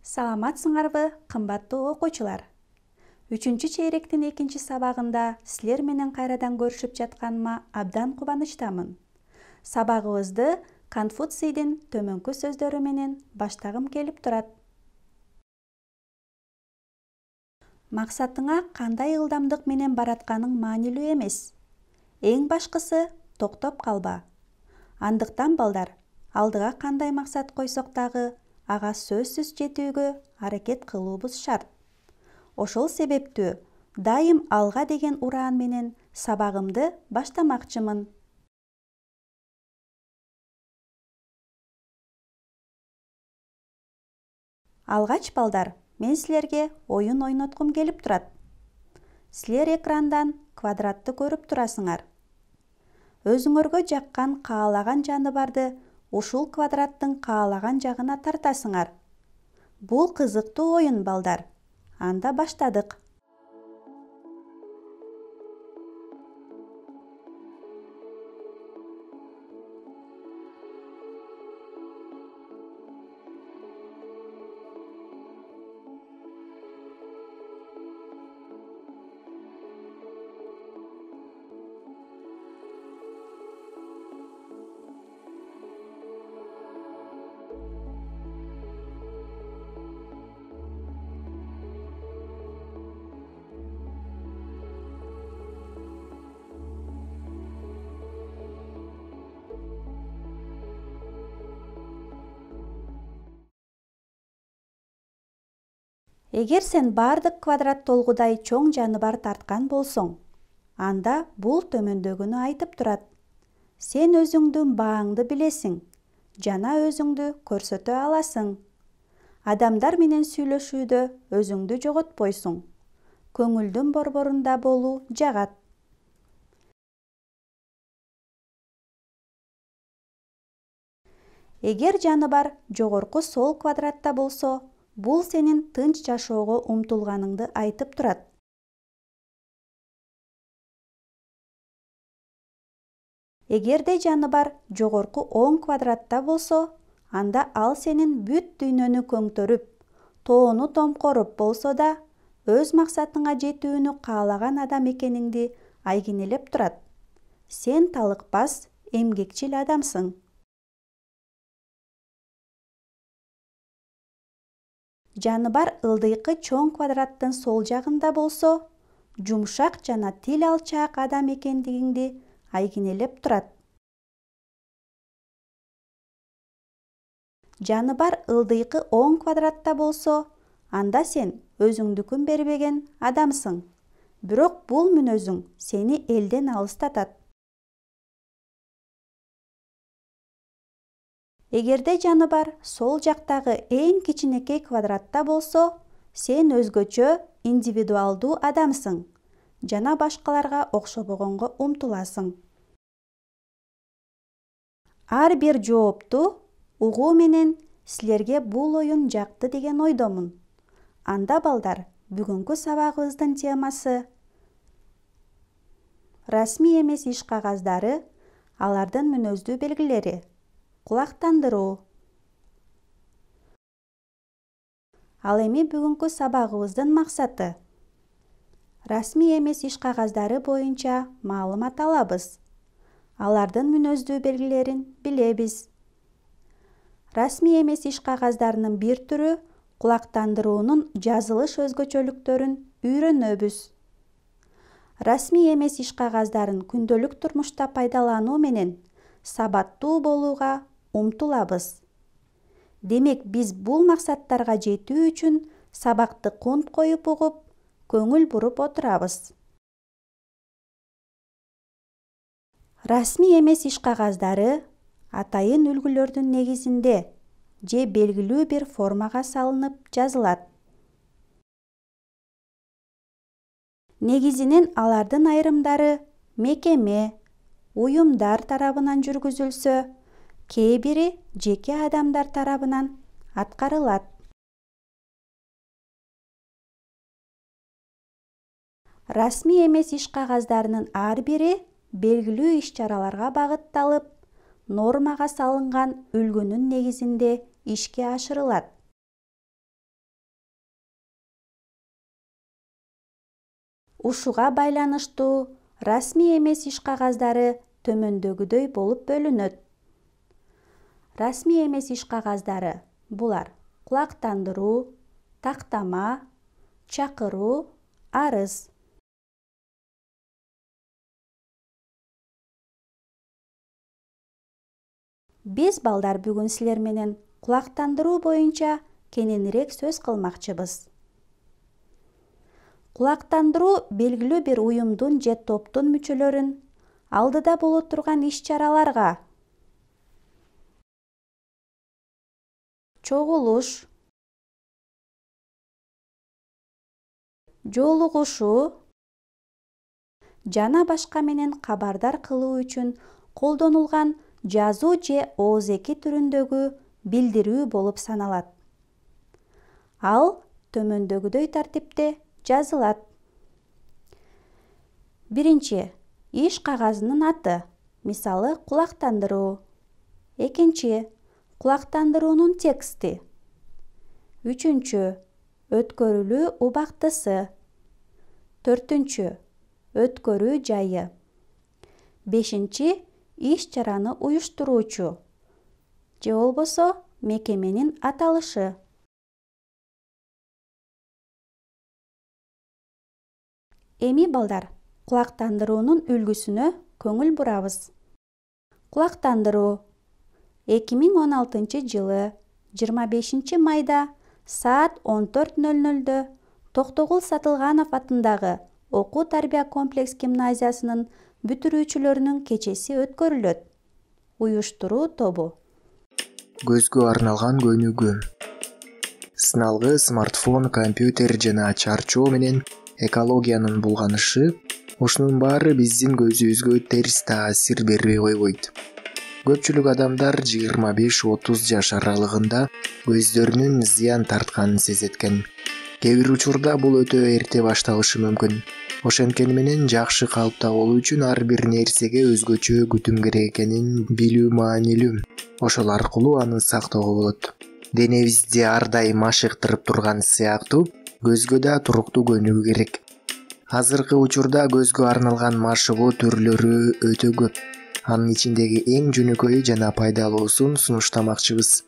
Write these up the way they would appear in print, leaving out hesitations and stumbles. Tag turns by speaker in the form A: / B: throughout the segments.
A: Саламатсыңарбы, кымбаттуу окуучулар? 3-чейректин 2-сабагында силер менен кайрадан көрүшүп жатканыма абдан кубанычтамын. Сабагыбызды Конфуцийдин төмөнкү сөздөрү менен баштагым келип турат. Максатыңа кандай ылдамдык менен баратканың маанилүү эмес. Эң башкысы токтоп калба. Андыктан балдар, алдыга кандай максат койсок дагы, ага сөзсүз жетүүгө аракет кылуубуз шарт. Ошол себептүү дайым алга деген ураан менен сабагымды баштамакчымын. Алгач балдар, мен силерге оюн ойноткум келип турат. Силер экрандан квадратты көрүп турасыңар. Өзүңөргө жаккан каалаган жаныбарды ушул квадраттын каалаган жагына тартасыңар. Бул кызыктуу оюн балдар. Анда баштадык. Эгер сен бардык квадрат толгудай чоң жаныбар тарткан болсоң, анда бул төмөндөгүнү айтып турат. Сен өзүңдүн бааңды билесиң, жана өзүңдү көрсөтө аласың. Адамдар менен сүйлөшүүдө өзүңдү жоготпойсуң. Көңүлдүн борборунда болуу жагат. Эгер жаныбар жогорку сол квадратта болсо, бул сенин тынч жашоого умтулганыңды айтып турат. Эгерде жаныбар жогорку оң квадратта болсо, анда ал сенин бүт дүйнөнү көңтөрүп, тоону томкоруп болсо да, өз максатыңа жетүүнү каалаган адам экениңди айгинелеп турат. Сен талыкпас, эмгекчил адамсың. Жаныбар ылдыйкы чоң квадраттын сол жагында болсо, жумшак жана тил алчаак адам экендигиңди айгинелеп турат. Жаныбар ылдыйкы оң квадратта болсо, анда сен өзүңдүкүн бербеген адамсың. Бирок бул мүнөзүң сени элден алыстатат. Эгерде жаныбар сол жактагы эң кичинекей квадратта болсо, сен өзгөчө, индивидуалдуу адамсың жана башкаларга окшобогонго умтуласың. Ар бир жоопту угуу менен силерге бул оюн жакты деген ойдомун. Анда балдар, бүгүнкү сабагыбыздын темасы расмий эмес иш кагаздары, алардын мүнөздүү белгилери. Кулактандыруу. Ал эми бүгүнкү сабагыбыздын максаты. Расмий эмес иш кагаздары боюнча маалымат алабыз. Алардын мүнөздүү белгилерин билебиз. Расмий эмес иш кагаздарынын бир түрү кулактандыруунун жазылыш өзгөчөлүктөрүн үйрөнөбүз. Расмий эмес иш кагаздарын күндөлүк турмушта пайдалануу менен сабаттуу болууга умтулабыз. Демек, биз бул максаттарга жетүү үчүн сабакты кунт коюп угуп, көңүл буруп отурабыз. Расмий эмес иш кагаздары атайын үлгүлөрдүн негизинде же белгилүү бир формага салынып жазылат. Негизинен алардын айрымдары мекеме, уюмдар тарабынан жүргүзүлсө, кээ бири жеке адамдар тарабынан аткарылат. Расмий эмес иш кагаздарынын ар бири белгилүү иш-чараларга багытталып, нормага салынган үлгүнүн негизинде ишке ашырылат. ушуга байланыштуу расмий эмес иш кагаздары төмөндөгүдөй болуп бөлүнөт. Расмий эмес иш кагаздары булар: кулактандыруу, тактама, чакыруу, арыз. Биз балдар бүгүн силер менен кулактандыруу боюнча кененирээк сөз кылмакчыбыз. Кулактандыруу белгилүү бир уюмдун же топтун мүчөлөрүн алдыда боло турган иш-чараларга, чогулуш, жолугушуу жана башка менен кабардар кылуу үчүн колдонулган жазуу же ооз-эки түрүндөгү билдирүү болуп саналат. Ал төмөндөгүдөй тартипте жазылат. Биринчи, иш кагазынын аты, мисалы кулактандыруу. Экинчи, кулактандыруунун тексти. Үчүнчү, өткөрүлүү убактысы. Төртүнчү, өткөрүү жайы. Бешинчи, иш-чараны уюштуруучу же болбосо мекеменин аталышы. Эми балдар, кулактандыруунун үлгүсүнө көңүл бурабыз. Кулактандыруу 2016-жылы 25 майда саат 14:00 Токтогул Сатылганов атындагы окуу-тарбия комплекс гимназиясынын бүтүрүүчүлөрүнүн кечеси өткөрүлөт. Уюштуруу тобу.
B: Көзгө арналган көнүгүү. Сыналгы смартфон, компьютер жана чарчоо менен экологиянын булганышы, ушунун баары биздин көзүбүзгө терс таасир бербей койбойт. Көпчүлүк адамдар 25-30 жаш аралыгында көздөрүнүн зыян тартканын сезет экен. Кээ бир учурда бул өтө эрте башталышы мүмкүн. Ошенткени менен жакшы калыпта болуу үчүн ар бир нерсеге өзгөчө күтүм керек экенин билүү маанилүү. Ошол аркылуу аны сактоого болот. Денебизди ар дайым ашыктырып турган сыяктуу көзгө да туруктуу көнүгүү керек. Азыркы учурда көзгө арналган машыгуу түрлөрү өтө көп. Анын ичиндеги эң жөнөкөйү жана пайдалуусун сунуштамакчыбыз.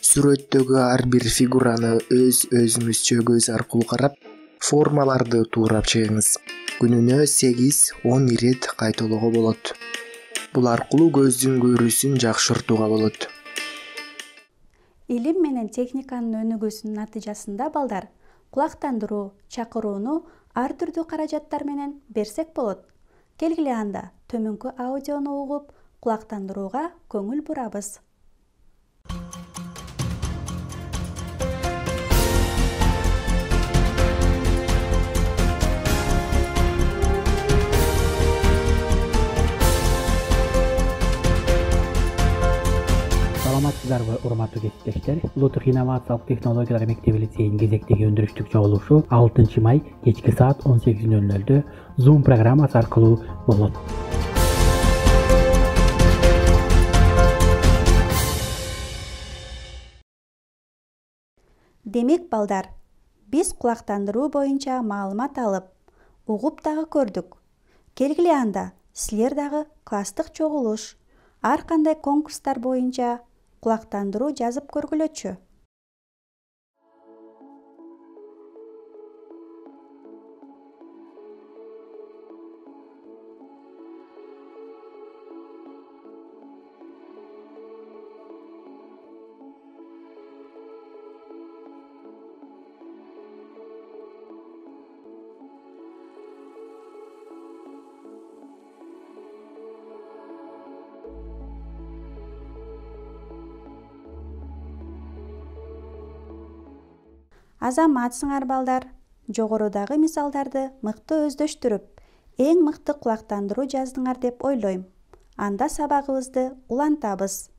B: Сүрөттөгү ар бир фигураны өзүңүзчө көз аркылуу карап, формаларды туурап чыгыңыз. Күнүнө 8-10 ирет кайталоого болот. Бул аркылуу көздүн көрүүсүн жакшыртууга болот.
A: Илим менен техниканын өнүгүүсүнүн натыйжасында балдар, кулактандыруу, чакырууну ар түрдүү каражаттар менен берсек болот. Келгиле анда төмөнкү аудиону угуп, кулактандырууга көңүл бурабыз.
C: Саламатсыздарбы, урматтуу кесиптештер? Улуттук инновациялык технологиялар мектеби лицейинин кезектеги өндүрүштүк чогулушу 6 май кечки саат 18:00 Zoom программасы аркылуу болот.
A: Демек балдар, биз кулактандыруу боюнча маалымат алып, угуп дагы көрдүк. Келгиле анда силер дагы класстык чогулуш, ар кандай конкурстар боюнча кулактандыруу жазып көргүлөчү. Азаматсыңар балдар, жогорудагы мисалдарды мыкты өздөштүрүп, эң мыкты кулактандыруу жаздыңар деп ойлойм. Анда сабагыбызды улантабыз.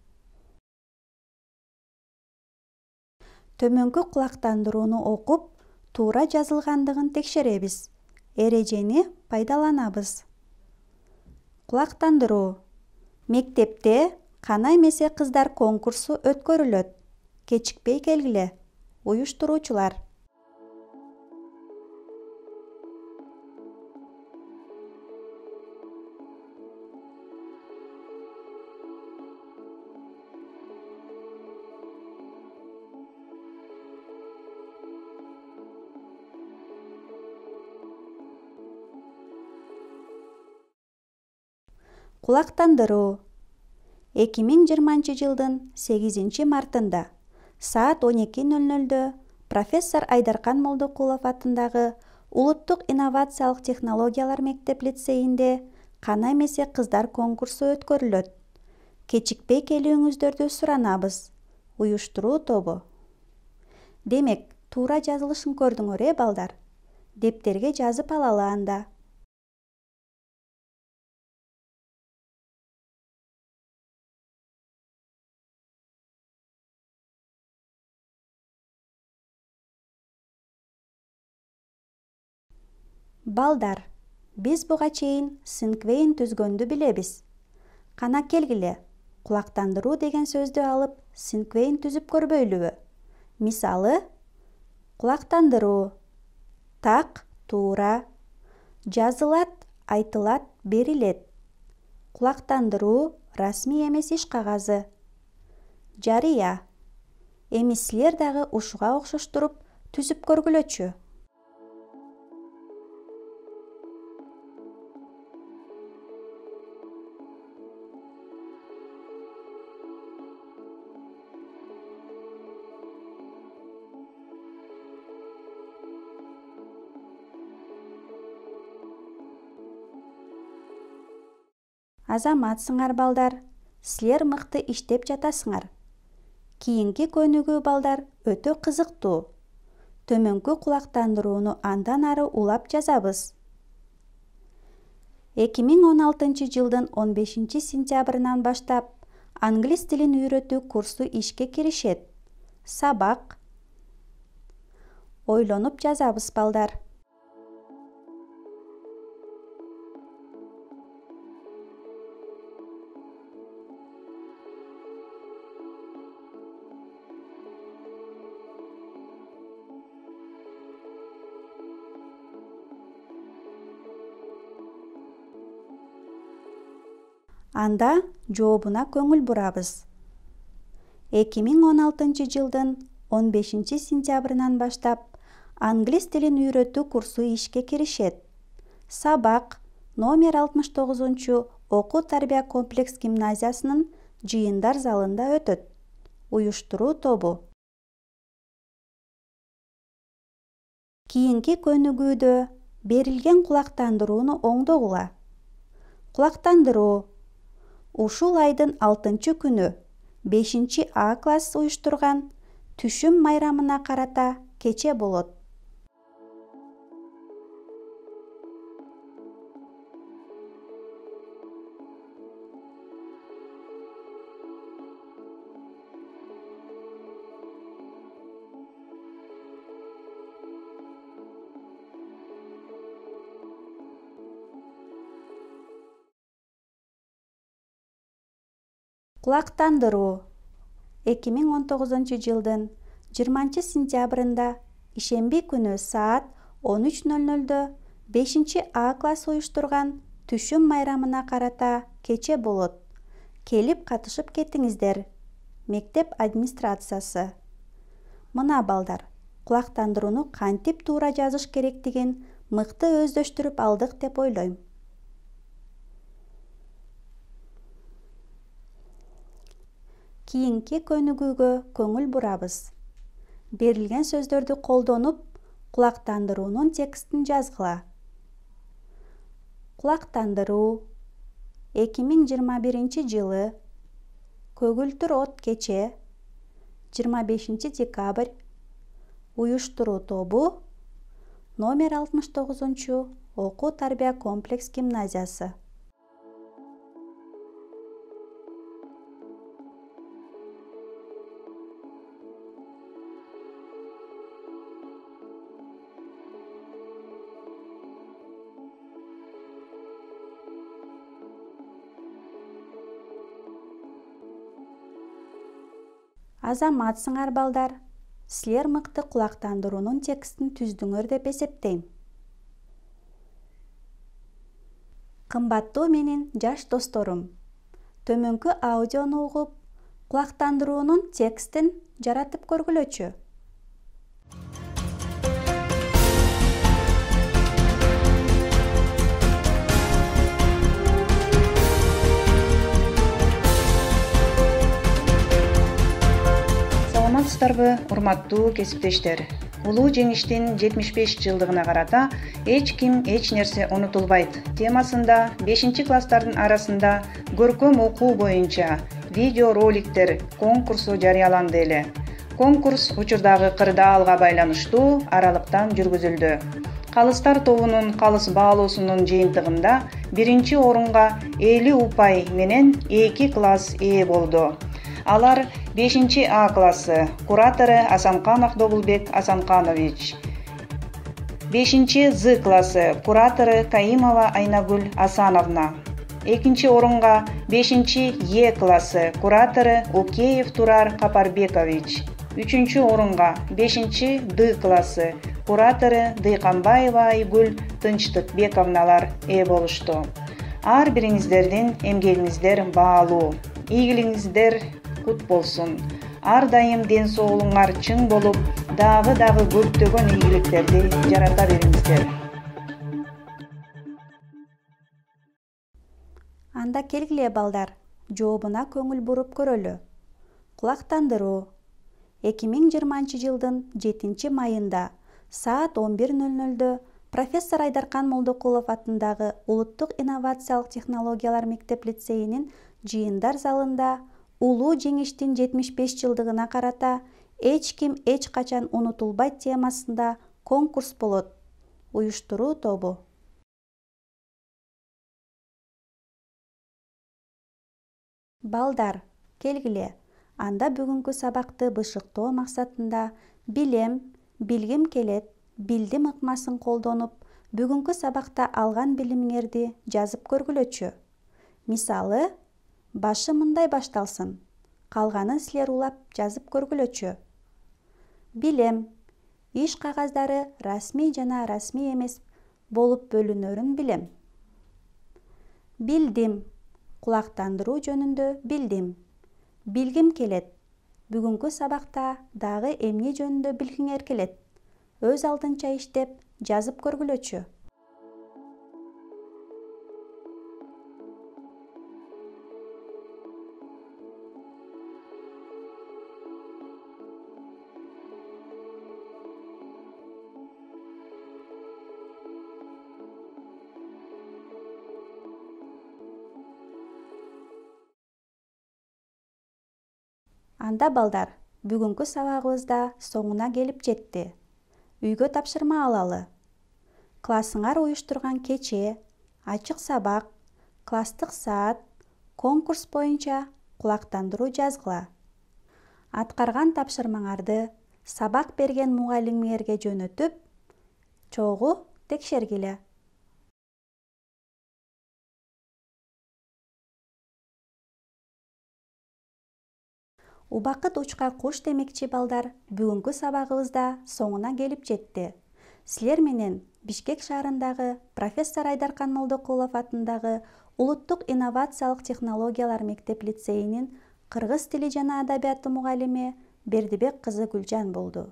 A: Төмөнкү кулактандырууну окуп, туура жазылгандыгын текшеребиз. Эрежени пайдаланабыз. Кулактандыруу. Мектепте кана эмесе кыздар конкурсу өткөрүлөт. Кечикпей келгиле. Уюштуруучулар. Кулактандыруу. 2020 жылдын 8 мартында саат 12:00 профессор Айдаркан Молдокулов атындагы Улуттук инновациялык технологиялар мектеп-лицейинде кана эмесе кыздар конкурсу өткөрүлөт. Кечикпей келүүңүздөрдү суранабыз. Уюштуруу тобу. Демек, туура жазылышын көрдүңөр балдар. Дептерге жазып алалы анда. Балдар, биз буга чейин синквейн түзгөндү билебиз. Кана келгиле, кулактандыруу деген сөздү алып, синквейн түзүп көрбөйлүбү? Мисалы, кулактандыруу. Так, туура. Жазылат, айтылат, берилет. Кулактандыруу расмий эмес иш кагазы. Жарыя. Эми силер дагы ушуга окшоштуруп түзүп көргүлөчү. Азаматсыңар балдар, силер мыкты иштеп жатасыңар. Кийинки көнүгүү балдар өтө кызыктуу. Төмөнкү кулактандырууну андан ары улап жазабыз. 2016 жылдын 15 сентябрынан баштап англис тилин үйрөтүү курсу ишке киришет. Сабак. Ойлонуп жазабыз балдар. Анда жообуна көңүл бурабыз. 2016 жылдын 15 сентябрынан баштап англис тилин үйрөтүү курсу ишке киришет. Сабак номер 69 окуу-тарбия комплекс гимназиясынын жыйындар залында өтөт. Уюштуруу тобу. Кийинки көнүгүүдө берилген кулактандырууну оңдогула. Кулактандыруу. Ушул айдын 6 күнү 5 А класс уюштурган түшүм майрамына карата кече болот. Кулактандыруу. 2019 жылдын 20 сентябрында ишемби күнү саат 13:00 5 А класс уюштурган түшүм майрамына карата кече болот. Келип катышып кетиңиздер. Мектеп администрациясы. Мына балдар, кулактандырууну кантип туура жазыш керектигин мыкты өздөштүрүп алдык деп ойлойм. Кийинки көнүгүүгө көңүл бурабыз. Берилген сөздөрдү колдонуп, кулактандыруунун текстин жазгыла. Кулактандыруу. 2021 жылы көгүлтүр от кече 25 декабрь. Уюштуруу тобу номер 69 окуу-тарбия комплекс гимназиясы. Азаматсыңар балдар, силер мыкты кулактандыруунун текстин түздүңөр деп эсептейм. Кымбаттуу менин жаш досторум, төмөнкү аудиону угуп, кулактандыруунун текстин жаратып көргүлөчү.
D: Саламатсыздарбы, урматтуу кесиптештер? Улуу жеңиштин 75 жылдыгына карата эч ким эч нерсе унутулбайт темасында 5-класстардын арасында көркөм окуу боюнча видео роликтер конкурсу жарыяланды эле. Конкурс учурдагы кырдаалга байланыштуу аралыктан жүргүзүлдү. Калыстар тобунун калыс баалоосунун жыйынтыгында 1-орунга 50 упай менен 2 класс ээ болду. Алар 5-А классы, куратору Асанканов Добулбек Асанканович. 5-З классы, куратору Каимова Айнагүл Асановна. 2-орунга 5-Е классы, куратору Океев Турар Капарбекович. 3-орунга 5-Д классы, куратору Дыйканбаева Айгүл Тынчтыкбековналар ээ болушту. Ар бириңиздердин эмгегиңиздер баалуу. Ийгилигиңиздер кут болсун. Ар дайым ден соолугуңар чың болуп, дагы көптөгөн ийгиликтерди жарата бериңиздер.
A: Анда келгиле балдар, жообуна көңүл буруп көрөлү. Кулактандыруу. 2020-жылдын 7-майында саат 11:00 профессор Айдаркан Молдокулов атындагы Улуттук инновациялык технологиялар мектеп-лицейинин жыйындар залында улуу жеңиштин 75 жылдыгына карата эч ким эч качан унутулбайт темасында конкурс болот. Уюштуруу тобу. Балдар, келгиле. Анда бүгүнкү сабакты бышыктоо максатында билем, билгим келет, билдим ыкмасын колдонуп, бүгүнкү сабакта алган билимиңерди жазып көргүлөчү. Мисалы, башы мындай башталсын. Калганын силер улап жазып көргүлөчү. Билем, иш кагаздары расмий жана расмий эмес болуп бөлүнөрүн билем. Билдим, кулактандыруу жөнүндө билдим. Билгим келет. Бүгүнкү сабакта дагы эмне жөнүндө билгиңер келет? Өз алдынча иштеп, жазып көргүлөчү. Анда балдар, бүгүнкү сабагыбыз да соңуна келип жетти. Үйгө тапшырма алалы. Классыңар уюштурган кече, ачык сабак, класстык саат, конкурс боюнча кулактандыруу жазгыла. Аткарган тапшырмаңарды сабак берген мугалимиңерге жөнөтүп, чогуу текшергиле. Убакыт учка куш демекчи балдар, бүгүнкү сабагыбыз да соңуна келип жетти. Силер менен Бишкек шаарындагы профессор Айдаркан Молдокулов атындагы Улуттук инновациялык технологиялар мектеп-лицейинин кыргыз тили жана адабияты мугалими Бердибек кызы Гүлжан болду.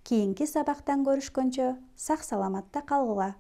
A: Кийинки сабактан көрүшкөнчө сак саламатта калгыла.